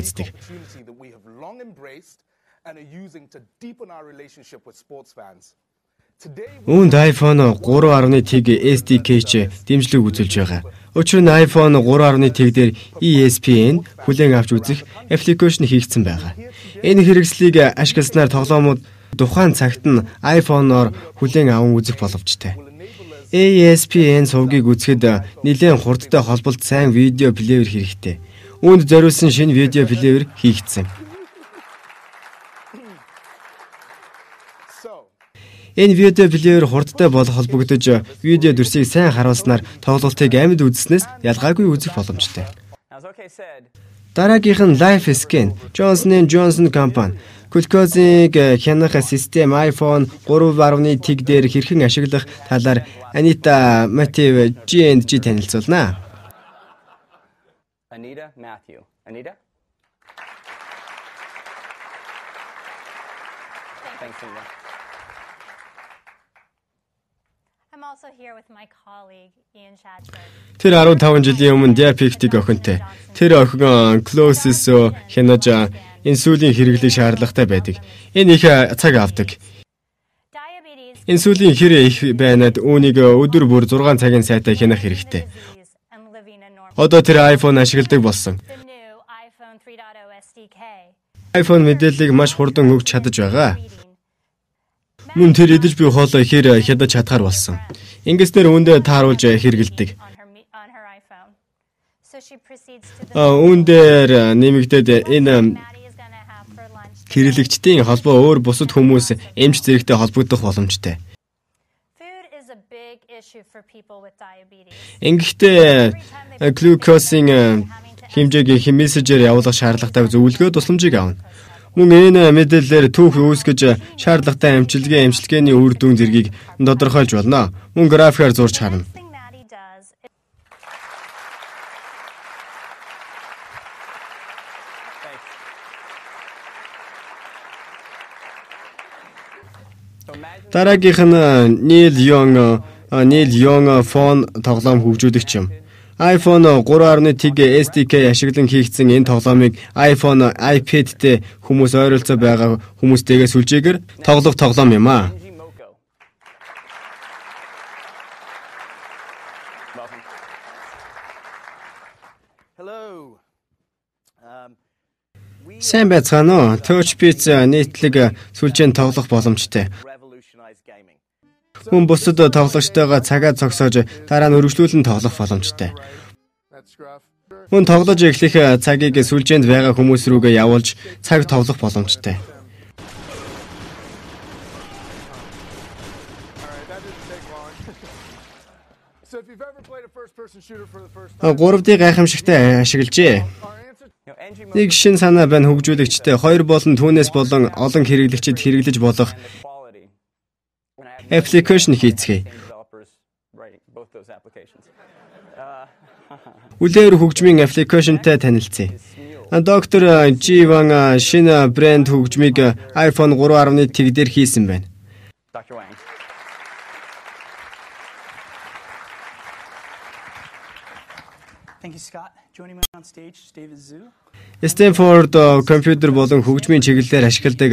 үздэг. Үүнд iPhone 3.1 SDK-ч дэмжлэг үзүүлж байгаа. Учир нь iPhone 3.1 дээр ESPN хүлээн авч үзэх аппликейшн хийгдсэн байгаа. Энэ хэрэгслийг ашигласнаар тоглоомууд тухайн цагт нь iPhone-оор хүлээн аван үзэх боломжтой. ESPN сувгийг үзэхэд нэлээд хурдтай холболт сайн видео плеер хэрэгтэй. Үүнд зориулсан шинэ видео плеер хийгдсэн. Энэ видео плеер хурдтай болох холбогдож видео дүрсийг сайн харуулснаар тоглолтыг амьд үзснээс ялгаагүй үзэх боломжтой. Дараагийнх нь Life Scan, Johnson & Johnson компани глюкозыг хянах систем iPhone 3.1 дээр хэрхэн ашиглах талаар Anita Matthew G&G танилцуулнаа. Anita Matthew. Anita? Thanks, Anita. I'm also here with my colleague Ian Shadford. Тэр 15 жилийн өмнө диабетик охинтой. Тэр охин Closes хянаж инсулин хэрэглэх шаардлагатай байдаг. Энэ их цаг авдаг. Инсулин хэрэг их байнад үүнийг өдөр бүр 6 цагийн сайтаа хянах хэрэгтэй. Одоо тэр iPhone ашигладаг болсон. iPhone мэдээллийг маш хурдан өгч чадаж байгаа. Мөн тэр идэж буй хоолой ихээр хядаж чадхаар болсон. Ингэснээр үүндээ тааруулж хэрэгэлдэг. Үүндээр нэмэгдээд энэ хэрэглэгчдийн холбоо өөр бусад хүмүүс эмч зэрэгтэй холбогдох боломжтой. Ингэхдээ глюкозын хэмжээг мессежээр явуулах шаардлагатай зөвлөгөө тусламжийг авна. Мөн энэ мэдээлэлээр түүх үүсгэж шаардлагатай эмчилгээний үр дүн зэргийг тодорхойлж болно. Мөн графикаар зурж харна. Дараагийнх нь Neil Young phone тоглоом хөгжүүлэгч юм. iPhone 3.1 SDK ашиглан хийгдсэн энэ тоглоомыг iPhone, iPad-тэй хүмүүс ойролцоо байгаа хүмүүстэйгээ сүлжээгээр тоглох тоглоом юм аа. Сайн байцгаана уу? TouchBeats нийтлэг сүлжээнд тоглох боломжтой. Хүн бусад тоглогчтойгоо цагаа зогсоож дараа нь өргөжлүүлэн тоглох боломжтой. Хүн тоглож эхлэх цагийг сүлжээнд байгаа хүмүүс рүүгээ явуулж цаг тоглох боломжтой. Гуравдыг гайхамшигтай ашиглажээ. Нэг шин санаа байна хөгжүүлэгчтэй, хоёр болон түүнээс болон олон хэрэглэгчид хэрэглэж болох аппликейшн хийцгээе. Үлээр хөгжмийн аппликейшнтай танилцъя. Доктор Живан шинэ брэнд хөгжмийг iPhone 3.1 дээр хийсэн байна. Thank you, Scott. Joining me on stage is David Zhu. Stanford компьютер болон хөгжмийн чиглэлээр ашигладаг